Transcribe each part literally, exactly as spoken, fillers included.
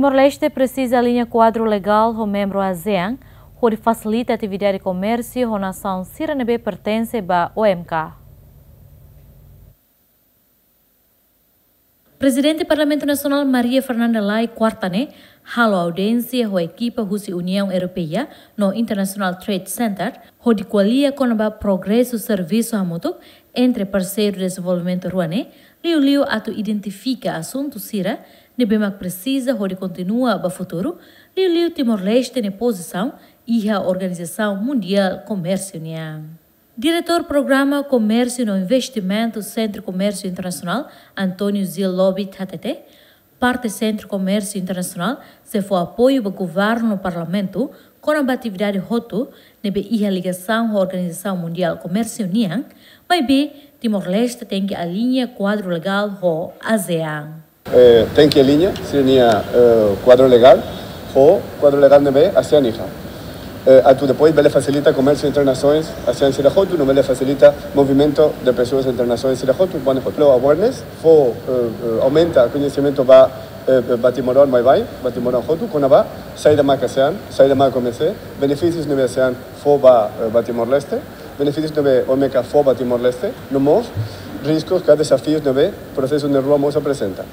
Timor-Leste presiza aliña kuadru legál ho membru ASEAN, hodi fasilita atividade komérsiu ho nasaun sira ne'ebé pertense ba O M K. Prezidente Parlamentu Nasionál Maria Fernanda Lay, kuarta ne'e, halo audiénsia ho ekipa husi Uniaun Europeia no International Trade Center, hodi ko'alia kona-ba progresu servisu hamutuk entre parseiru dezenvolvimentu rua ne'e, liuliu atu identifika asuntu sira ne'ebé mak presiza hodi kontinua ba futuru, liuliu Timor-Leste nia pozisaun iha Organizasaun Mundiál Komérsiu nian. Diretór Programa Komérsiu no Investimentu Sentru Komérsiu Internasionál, António Zil Lobit, hatete, parte Sentru Komérsiu Internasionál sei fó apoiu ba governu no parlamentu kona-ba atividade hotu ne'ebé iha ligasaun ho Organizasaun Mundiál Komérsiu nian, maibé Timor-Leste tenke aliña kuadru legál ho ASEAN. Eh, tenke aliña sira-nia, eh, kuadru legál ho kuadru legál ne'ebé ASEAN iha. Eh, atu depois bele fasilita komérsiu entre nasoens ASEAN sira hotu, no bele fasilita movimentu de pesoas entre nasoens sira hotu, ba ne'e hotu. Lo awareness, fó, eh, eh, aumenta koñesimentu ba, eh, eh, ba timoroan baibain, ba timoroan hotu, kona-ba saida mak ASEAN, saida mak OMC, benefísius ne'ebé ASEAN fó ba, eh, ba Timor-Leste, benefísius ne'ebé O M K fó ba Timor-Leste, no mós riskus ka dezafius ne'ebé prosesu ne'e rua mós aprezenta.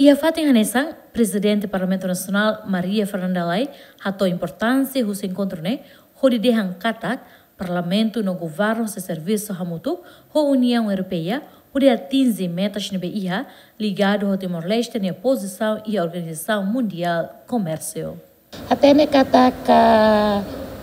Iha fatin hanesan, Prezidente Parlamentu Nasionál Maria Fernanda Lay hato'o importánsia husi enkontru ne'e, hodi dehan katak Parlamentu no governu sei servisu hamutuk ho Uniaun Europeia hodi atinje metas ne'ebé iha ligadu ho Timor-Leste nia pozisaun iha Organizasaun Mundiál Komérsiu. Hatene katak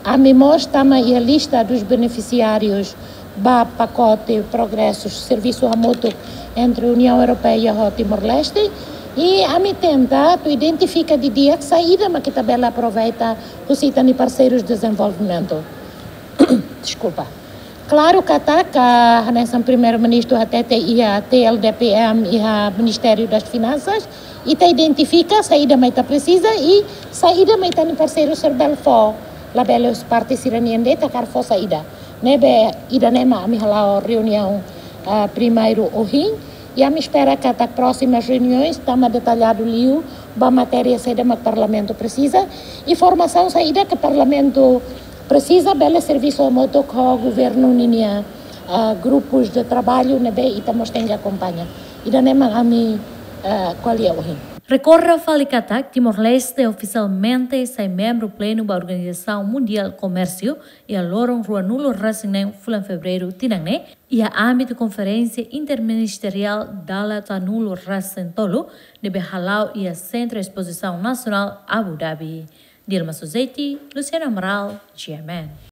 ami mós tama iha lista dos beneficiários ba pakote progresu servisu hamutuk entre Uniaun Europeia ho Timor-Leste, i ami tenta atu identifika didi'ak saida mak ita bele aproveita husi ita-nia parseirus dezenvolvimentu. Deskulpa. Klaru katak, hanesan Primeiru-Ministru hatete, iha T L D P M, iha Ministériu das Finansas, ita identifika saida mak ita presiza i saida mak ita-nia parseiru sira bele fó. Labele husi parte sira-nian de'it hakarak fó saida. Ne'ebé ida-ne'e mak ami hala'o reuniaun, ah, primeiru ohin. I ami espera katak prósimas reuniões tama detalladu liu ba matéria saida mak Parlamentu presiza. I formasaun saida ke Parlamentu presiza bele servisu hamutuk ho governu ninia, ah, grupus de traballu ne'ebé ita mós tenke akompaña. Ida-ne'e mak ami, ah, ko'alia ohin. Rekorda fali katak Timor-Leste ofisialmente sai membru plenu ba Organizasaun Mundiál Komérsiu iha loron ruanulu-resin-neen fulan Fevereiru tinan ne'e, iha ámbitu Konferénsia Interministeriál dala sanulu-resin-tolu ne'ebé hala'o iha Sentru Espozisaun Nasionál Abu Dhabi. Dilma Suzeti, Luciano Amaral, G M N.